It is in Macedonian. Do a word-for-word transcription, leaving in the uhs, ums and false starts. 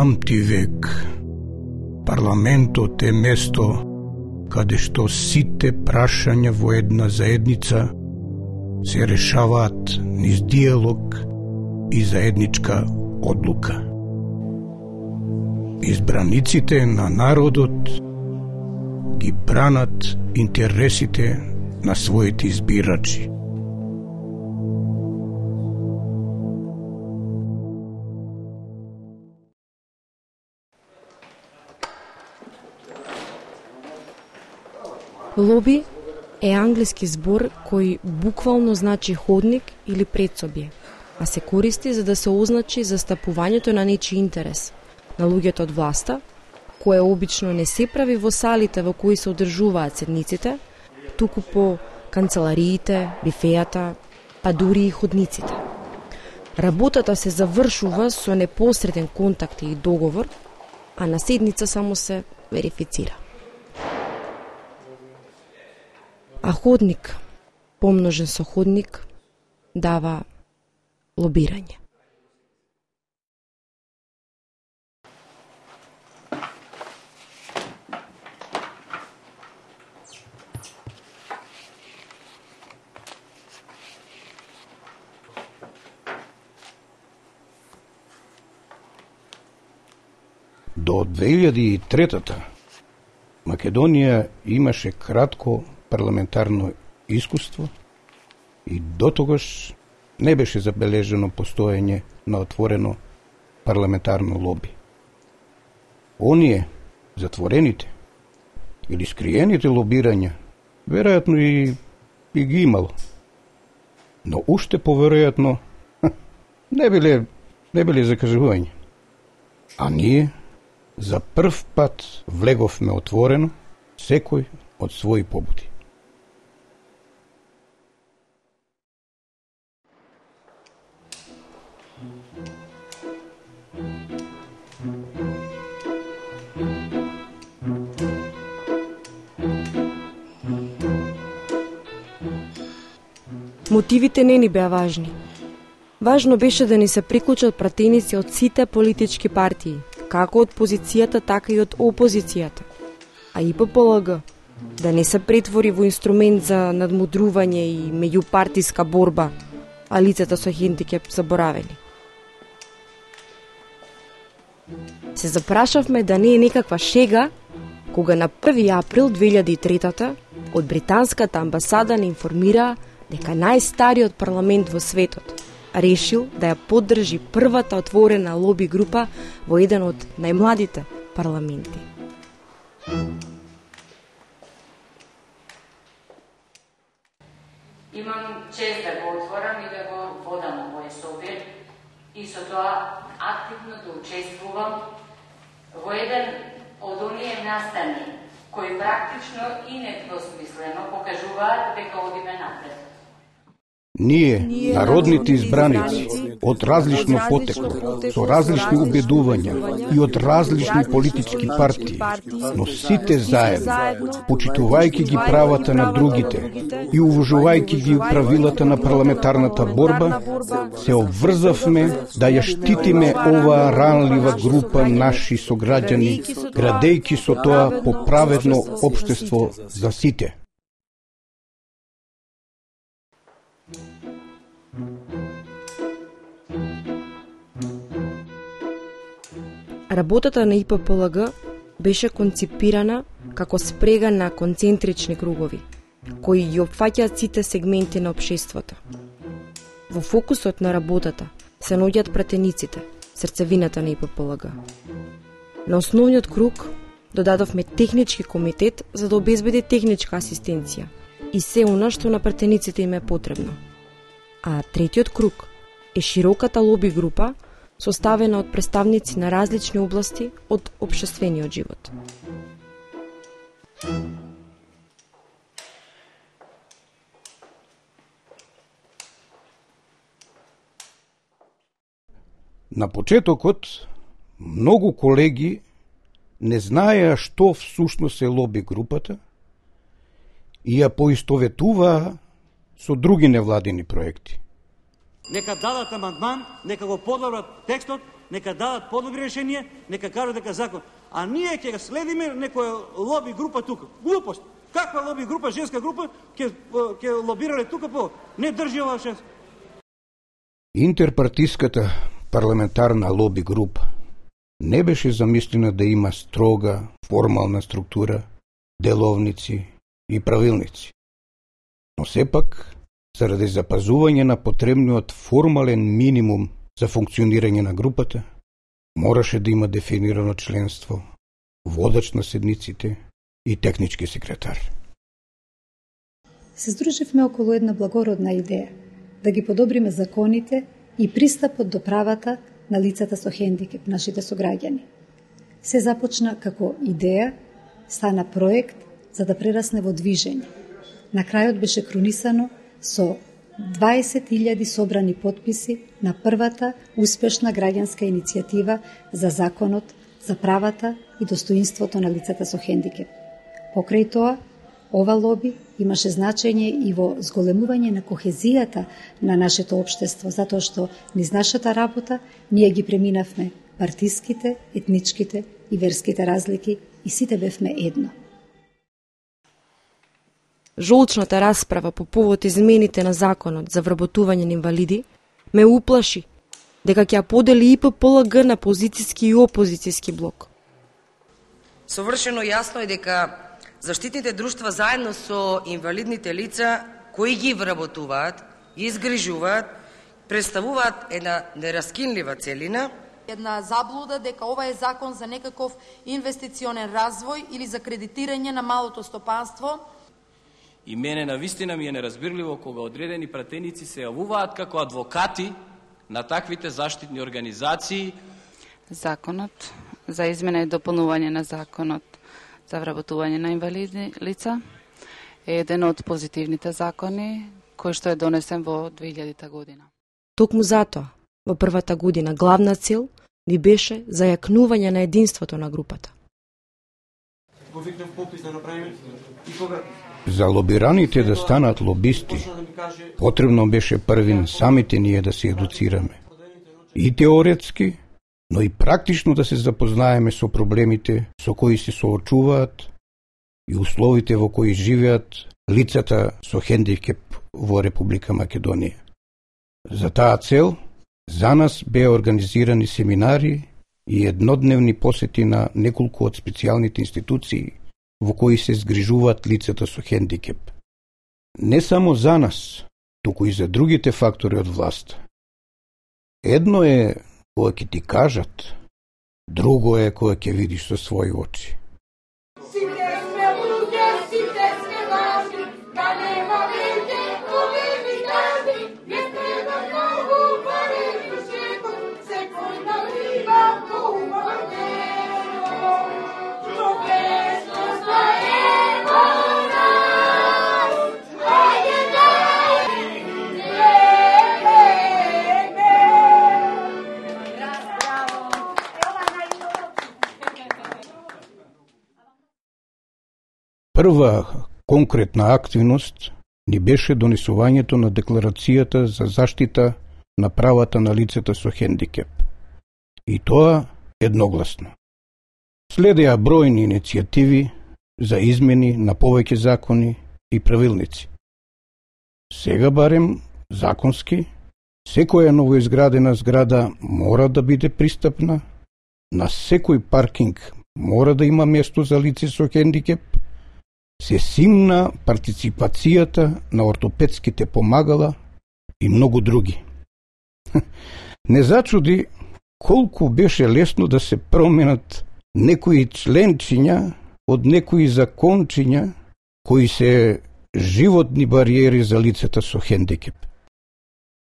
памти век, парламентот е место каде што сите прашања во една заедница се решаваат низ диалог и заедничка одлука. Избраниците на народот ги бранат интересите на своите избирачи. Лоби е англиски збор кој буквално значи ходник или предсобје, а се користи за да се означи застапувањето на нечи интерес, на луѓето од власта, кое обично не се прави во салите во кои се одржуваат седниците, туку по канцелариите, бифејата, па дури и ходниците. Работата се завршува со непосреден контакт и договор, а на седница само се верифицира. А ходник, помножен со ходник, дава лобирање. До две илјади и трета Македонија имаше кратко парламентарно искуство и дотогаш не беше забележено постоење на отворено парламентарно лоби. Оние, затворените или скриените лобирања, веројатно и, и ги имало. Но уште поверојатно не биле, не биле закажување. А ние за прв пат влеговме отворено, секој од своји побуди. Мотивите не ни беа важни. Важно беше да ни се приклучат пратеници од сите политички партии, како од позицијата, така и од опозицијата. А И П П Л Г да не се претвори во инструмент за надмудрување и меѓупартиска борба, а лицата со хендикеп заборавени. Се запрашавме да не е некаква шега, кога на први април две илјади и трета од британската амбасада не информира дека најстариот парламент во светот решил да ја поддржи првата отворена лоби група во еден од најмладите парламенти. Имам чест да го отворам и да го водам овој собир и со тоа активно да учествувам во еден од оние настани кои практично и недвосмислено покажуваат дека одиме напред. Ние, народните избраници, од различно потекло, со различни убедувања и од различни политички партии, но сите заедно, почитувајќи ги правата на другите и уважувајќи ги правилата на парламентарната борба, се обврзавме да ја штитиме оваа ранлива група наши сограѓани, градејќи со тоа поправедно општество за сите. Работата на И П П Л Г беше конципирана како спрега на концентрични кругови, кои ги опфаќаат сите сегменти на општеството. Во фокусот на работата се наоѓаат пратениците, срцевината на И П П Л Г. На основниот круг додадовме технички комитет за да обезбеди техничка асистенција и се она што на пратениците им е потребно. А третиот круг е широката лоби група составена од представници на различни области од општествениот живот. На почетокот, многу колеги не знаеа што всушност е лоби групата и ја поистоветуваа со други невладини проекти. Нека дадат амандман, нека го подобрат текстот, нека дадат подобри решение, нека кажат дека закон. А ние ќе следиме некоја лоби група тука. Глупост. Каква лоби група, женска група, ќе ќе лобирале тука по не држи ова шеф. Интерпартиската парламентарна лоби група не беше замислена да има строга, формална структура, деловници и правилници. Но сепак, заради запазување на потребниот формален минимум за функционирање на групата, мораше да има дефинирано членство, водач на седниците и технички секретар. Се здруживме околу една благородна идеја да ги подобриме законите и пристапот до правата на лицата со хендикеп, нашите сограѓани. Се започна како идеја, стана проект за да прерасне во движење. На крајот беше кронисано со дваесет илјади собрани потписи на првата успешна граѓанска иницијатива за законот за правата и достоинството на лицата со хендикеп. Покрај тоа, ова лоби имаше значење и во зголемување на кохезијата на нашето општество, затоа што низ нашата работа ние ги преминавме партиските, етничките и верските разлики и сите бевме едно. Жолчната расправа по повод измените на законот за вработување на инвалиди ме уплаши дека ќе ја подели И П П Л Г на позицијски и опозицијски блок. Совршено јасно е дека заштитните друштва заедно со инвалидните лица кои ги вработуваат и изгрижуваат представуваат една нераскинлива целина. Една заблуда дека ова е закон за некаков инвестиционен развој или за кредитирање на малото стопанство. И мене навистина ми е неразбирливо кога одредени пратеници се јавуваат како адвокати на таквите заштитни организации. Законот за измена и дополнување на законот за вработување на инвалидни лица е еден од позитивните закони кој што е донесен во две илјадета година. Токму затоа, во првата година главна цел ни беше зајакнување на единството на групата. За лобираните да станат лобисти, потребно беше првин самите ние да се едуцираме. И теоретски, но и практично да се запознаеме со проблемите со кои се соочуваат и условите во кои живеат лицата со хендикеп во Република Македонија. За таа цел, за нас беа организирани семинари и еднодневни посети на неколку од специјалните институции во кои се згрижуваат лицата со хендикеп. Не само за нас, туку и за другите фактори од власта. Едно е кога ќе ти кажат, друго е кога ќе видиш со своји очи. Прва конкретна активност ни беше донесувањето на Декларацијата за заштита на правата на лицата со хендикеп. И тоа едногласно. Следеа бројни иницијативи за измени на повеќе закони и правилници. Сега барем законски, секоја новоизградена зграда мора да биде пристапна, на секој паркинг мора да има место за лице со хендикеп, се симна партиципацијата на ортопедските помагала и многу други. Не зачуди колку беше лесно да се променат некои членчиња од некои закончиња кои се животни бариери за лицата со хендикеп.